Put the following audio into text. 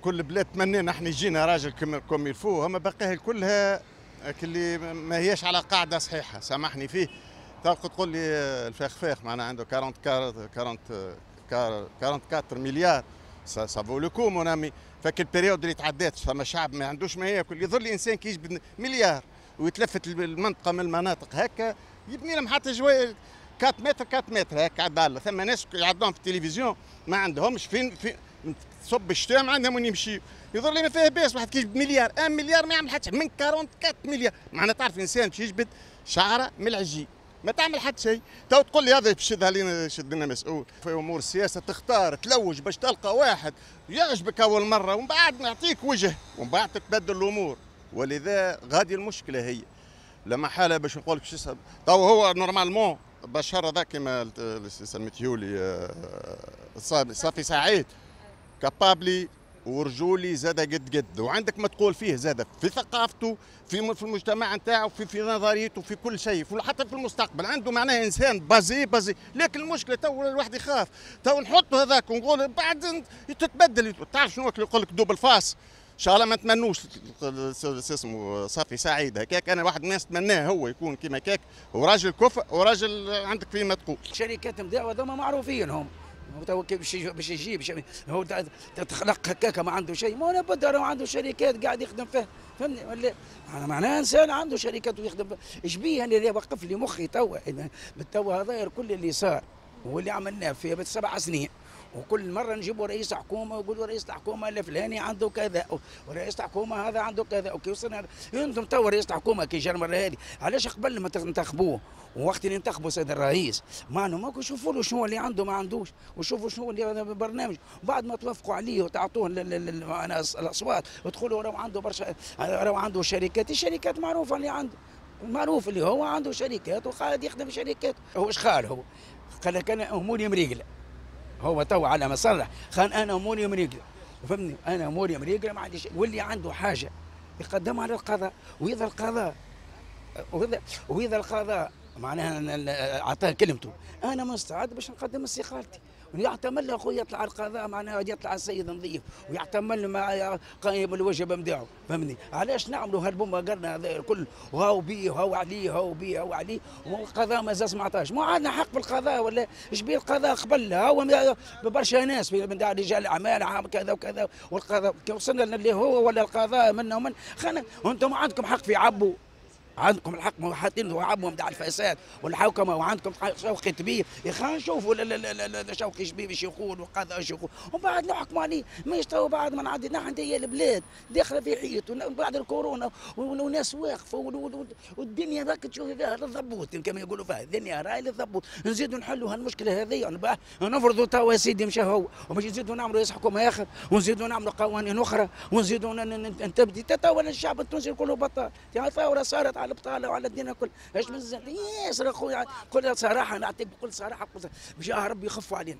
كل بلاد تمنينا احنا يجينا راجل comme il faut، اما باقيها كلها اللي ما هياش على قاعدة صحيحه، سامحني فيه. تلقى تقول لي الفخفاخ معناها عنده 44 40 44 مليار، ça vaut le coup mon ami. فك ال période اللي تعدات فما شعب ما عندوش ما ياكل. يظل الانسان كي يجبد مليار ويتلفت المنطقة من المناطق هكا يبني لهم حتى جوي 4 متر 4 متر هكا عدالة. ثم ناس يعدوهم في التلفزيون ما عندهمش فين في تصب الشتاء، ما عندهم وين يمشي. يظهر لي ما فيه باس واحد كي مليار، 1 مليار ما يعمل حتى من 44 مليار. معناها تعرف انسان باش يجبد شعره من العجين ما تعمل حتى شيء. تو تقول لي هذا باش يشد علينا، يشد لنا مسؤول في امور السياسه. تختار تلوج باش تلقى واحد يعجبك اول مرة ومن بعد نعطيك وجه ومن بعد تتبدل الامور، ولذا غادي المشكلة هي لما حاله باش نقول لك تو هو normalement بشار هذا كما سميتيولي صافي سعيد capable ورجولي زاد قد قد، وعندك ما تقول فيه زاد في ثقافته، في المجتمع نتاعو، في نظريته، في كل شيء، في حتى في المستقبل عنده معناه انسان basé basé. لكن المشكلة تو الواحد يخاف، تو نحط هذاك ونقول بعد تتبدل. تعرف شنو يقول لك double face. ان شاء الله ما نتمنوش اسمه صافي سعيد هكاك. انا واحد من الناس تمناه هو يكون كيما هكاك، وراجل كفء وراجل عندك فيه ما تقول. شركات نتاعو هذوما معروفين هم، تو باش يجيب هو تخلق هكاك ما عنده شيء، ما هو بد عنده شركات قاعد يخدم فيها، فهمني ولا؟ معناها انسان عنده شركات ويخدم فيها. ايش بيه اللي وقف لي مخي توا؟ توا هذا كل اللي صار واللي عملناه في 7 سنين، وكل مرة نجيبوا رئيس حكومة ويقولوا رئيس الحكومة الفلاني عنده كذا ورئيس الحكومة هذا عنده كذا. وكي وصلنا انتم تو رئيس الحكومة كي جا المرة هذه، علاش قبل ما تنتخبوه ووقت اللي انتخبوا سيد الرئيس ما انه ما شوفوا له شنو اللي عنده ما عندوش، وشوفوا شنو اللي برنامج، وبعد ما توافقوا عليه وتعطوه الاصوات وتقولوا راهو عنده برشا، راهو عنده شركات. الشركات معروفة اللي عنده، معروف اللي هو عنده شركات وقاعد يخدم شركات. هو ايش قال؟ هو قال لك انا اموري مريقله. هو تو على ما صرح خان انا اموري مريقله، فهمني؟ انا اموري مريقله ما عنديش، واللي عنده حاجة يقدمها للقضاء، واذا القضاء معناها اعطاه كلمته، انا مستعد باش نقدم استقالتي. ويعتمل اخويا يطلع القضاء معناها يطلع السيد نظيف ويعتمل مع قائم الواجب نتاعو، فهمني؟ علاش نعملوا هالبومه قرنا هذا الكل، وهاو بيه وهاو عليه وهاو بيه وهاو عليه، والقضاء مازال ما عطاش؟ ما عندنا حق في القضاء ولا ايش بيه القضاء؟ قبل هو برشا ناس من رجال اعمال عام كذا وكذا، والقضاء كي وصلنا اللي هو ولا القضاء منا ومن خلنا. وانتم عندكم حق في عبو، عندكم الحق حاطين عبو نتاع الفساد والحوكمه، وعندكم شوقي طبيب. يا خلينا نشوفوا شوقي شبيب ايش يقول وقضاء ايش يقول ومن بعد نحكموا عليه. مش تو بعد ما نعدي نحن هي البلاد داخله في حيط بعد الكورونا وناس واقفة والدنيا راك تشوفي فيها للضبوط، كما يقولوا فيها الدنيا راهي للضبوط. نزيدوا نحلوا هالمشكلة هذه، نفرضوا توا سيدي مشى هو، ومش نزيدوا نعملوا رئيس حكومة اخر ونزيدوا نعملوا قوانين اخرى ونزيدوا نتبدي. توا الشعب التونسي كله بطال، يعني ثورة صارت على البطالة وعلى الدنيا كل. ايش مازال ياسر اخويا؟ كل صراحة نعطيك بكل صراحه، بجاه ربي يخفوا علينا.